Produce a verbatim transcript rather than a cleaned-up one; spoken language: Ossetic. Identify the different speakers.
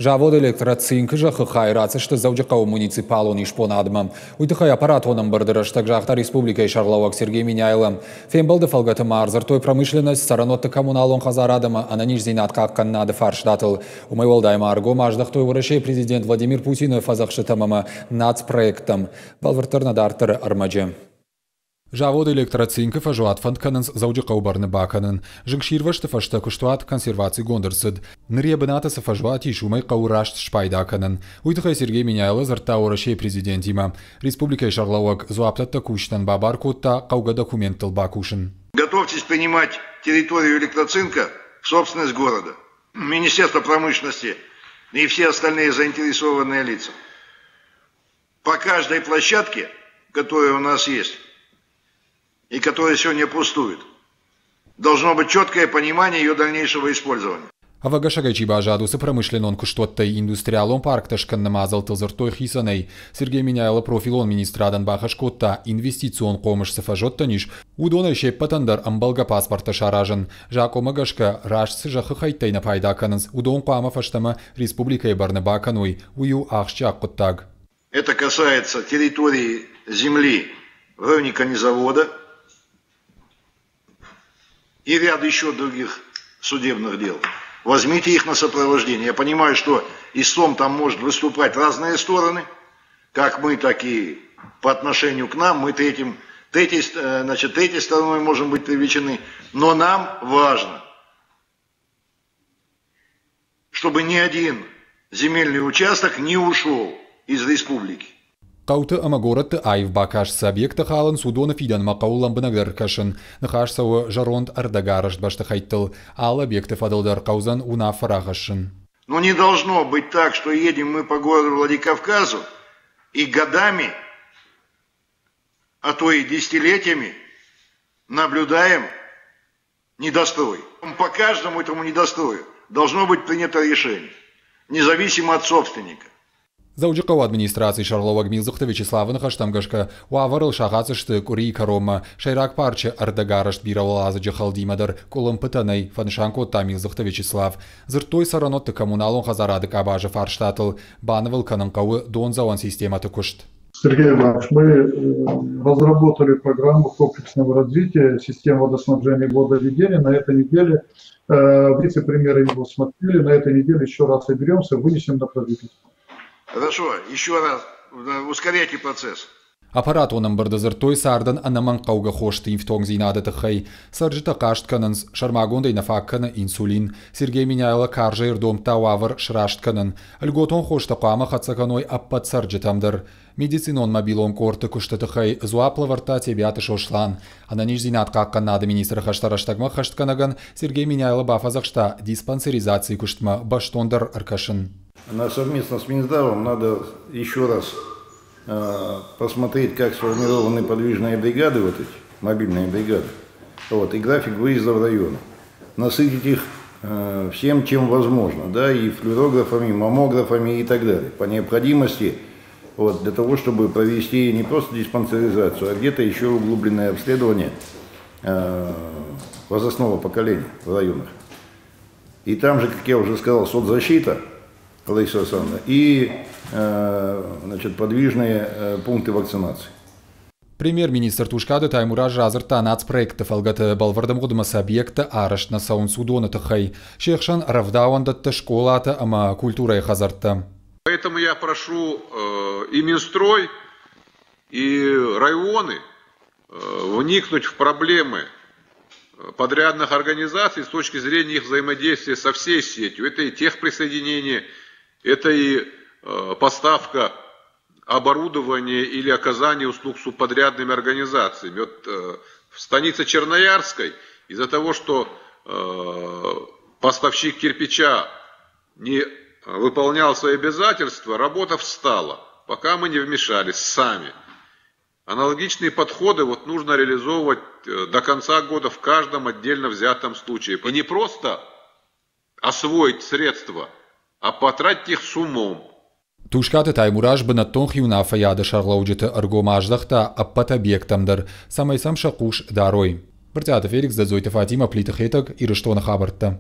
Speaker 1: Завод «Электроцинк» зӕххы хай ратдзысты Дзӕуджыхъӕуы муниципалон исбонадмӕ. Уый тыххӕй аппаратон ӕмбырды рӕстӕг загъта республикӕйы сӕргълӕууӕг Сергей Меняйло. Фембӕлды фӕлгӕты ма ӕрдзырдтой промышленность, цӕрӕнуӕтты коммуналон хӕдзарад ӕмӕ ӕнӕниздзинад хъахъхъӕнынады фарстатыл. Уымӕй уӕлдай ма ӕргом аздӕхтой Уӕрӕсейы президент Владимир Путины фӕдзӕхстытӕм ӕмӕ нацпроекттӕм. Бӕлвырддӕр нӕ дарддӕры ӕрмӕджы. Завод «Электроцинк»-ы фӕзуат фӕнд кӕнынц Дзӕуджыхъӕуы бӕрны бакӕнын. Зынгсирвӕзты фӕстӕ куыстуат консервацигонд ӕрцыд. Ныр йӕ бынаты цы фӕзуат ис, уымӕй хъӕуы раст спайда кӕнын. Уый тыххӕй Сергей Меняйло дзырдта Уӕрӕсейы президентимӕ. Республикӕйы сӕргълӕууӕг дзуапдӕттӕг кусджытӕн бабар кодта хъӕугӕ документтыл бакусын.
Speaker 2: Готовьтесь принимать территорию «Электроцинка» в собственность города. Министерство промышленности и все остальные заинтересованные лица. По каждой площадке, которая у нас есть и которая сегодня пустует, должно быть четкое понимание ее дальнейшего использования.
Speaker 1: Ӕвӕгӕсӕгӕй чи баззад, уыцы промышленнон куыстуӕттӕй индустриалон парктӕ скӕныны мадзӕлттыл дзырдтой хицӕнӕй. Сергей Меняйло профилон министрадӕн бахӕс кодта, инвестицион хъомыс цы фӕзуӕттӕн ис, уыдонӕй се ппӕтӕн дӕр ӕмбӕлгӕ паспорттӕ саразын. Закъонмӕ гӕсгӕ, раст цы зӕххы хӕйттӕй нӕ пайда кӕнынц, уыдон хъуамӕ фӕстӕмӕ республикӕйы бӕрны бакӕной. Уый у ахсджиаг хъуыддаг.
Speaker 2: Это касается территории земли в районе конезавода и ряд еще других судебных дел. Возьмите их на сопровождение. Я понимаю, что истцом там может выступать разные стороны, как мы, так и по отношению к нам. Мы третьим, третьей, э, значит, третьей стороной можем быть привлечены. Но нам важно, чтобы ни один земельный участок не ушел из республики.
Speaker 1: Хъӕуты ӕмӕ горӕтты аив бакаст цы объекттӕ халынц, уыдоны фидӕнмӕ хъӕуы лӕмбынӕгдӕр кӕсын. Ныхас цӕуы зӕронд ӕрдӕгарӕзт бӕстыхӕйттыл. Алы объекты фӕдыл дӕр хъӕудзӕн уынаффӕ рахӕссын.
Speaker 2: Но не должно быть так, что едем мы по городу Владикавказу и годами, а то и десятилетиями наблюдаем недострой. По каждому этому недострою должно быть принято решение, независимо от собственника.
Speaker 1: Дзӕуджыхъӕуы администрацийы сӕргълӕууӕг Милдзыхты Вячеславы ныхӕстӕм гӕсгӕ, уавӕрыл сахаддзысты къуырийы кӕронмӕ. Сӕйраг парчы ӕрдӕгарӕзт бирӕуӕладзыджы хӕлдимӕ дӕр къуылымпытӕ нӕй, фӕнысан кодта Милдзыхты Вячеслав. Дзырдтой цӕрӕнуӕтты коммуналон хӕдзарады къабазы фарстатыл. Банывыл кӕнын хъӕуы дондзӕуӕн системӕты куыст.
Speaker 3: Сергей Иванович, мы э, разработали программу комплексного развития систем водоснабжения и водоведения. На этой неделе э, вице-премьеры его смотрели, на этой неделе еще раз соберемся, вынесем на правительство.
Speaker 2: Хорошо, еще раз, ускоряйте процесс.
Speaker 1: Аппаратон ӕмбырды дзырдтой цардӕн ӕнӕмӕнгхъӕугӕ хосты ифтонгдзинады тыххӕй. Цӕрджытӕ хъаст кӕнынц, сӕрмагондӕй нӕ фаг кӕны инсулин. Сергей Меняйло карзӕй ӕрдомдта уавӕр сраст кӕнын. Льготон хостӕ хъуамӕ хӕццӕ кӕной ӕппӕт цӕрджытӕм дӕр. Медицинон мобилон къордты куысты тыххӕй дзуапп лӕвӕрдта Тебиаты Сослан. Ӕнӕниздзинад хъахъхъӕнынады министры хӕстӕ рӕстӕгмӕ ӕххӕстгӕнӕгӕн Сергей Меняйло бафӕдзӕхста диспансеризацийы куыстмӕ бӕстондӕр ӕркӕсын.
Speaker 2: На совместно с Минздравом надо еще раз э, посмотреть, как сформированы подвижные бригады, вот эти мобильные бригады, вот, и график выезда в районы. Насытить их э, всем, чем возможно, да, и флюорографами, и маммографами и так далее. По необходимости, вот, для того, чтобы провести не просто диспансеризацию, а где-то еще углубленное обследование э, возрастного поколения в районах. И там же, как я уже сказал, соцзащита, Лариса Александровна, и э, значит, подвижные э, пункты вакцинации.
Speaker 1: Премьер-министр Тускъаты Таймураз радзырдта нацпроектты фӕлгӕты бӕлвырд ӕмгъуыдмӕ цы объекттӕ арӕзт нӕ цӕуынц, уыдоны тыххӕй. Се хсӕн рӕвдауӕндӕттӕ, скъолатӕ ӕмӕ культурӕйы хӕдзӕрттӕ.
Speaker 4: Поэтому я прошу э, и Минстрой, и районы э, вникнуть в проблемы подрядных организаций с точки зрения их взаимодействия со всей сетью. Это и техприсоединение, это и э, поставка оборудования или оказание услуг субподрядными организациями. Вот э, в станице Черноярской из-за того, что э, поставщик кирпича не выполнял свои обязательства, работа встала, пока мы не вмешались сами. Аналогичные подходы вот нужно реализовывать до конца года в каждом отдельно взятом случае. И не просто освоить средства, а потратить их с умом.
Speaker 1: Тускъаты Таймураз бынӕттон хиуынаффӕйады сӕргълӕуджыты ӕргом аздӕхта ӕппӕт объекттӕм дӕр, цӕмӕй сӕм сӕ хъус дарой. Брытъиаты Феликс, Дзӕдзойты Фатимӕ, Плиты Хетӕг, Ирыстоны хабӕрттӕ.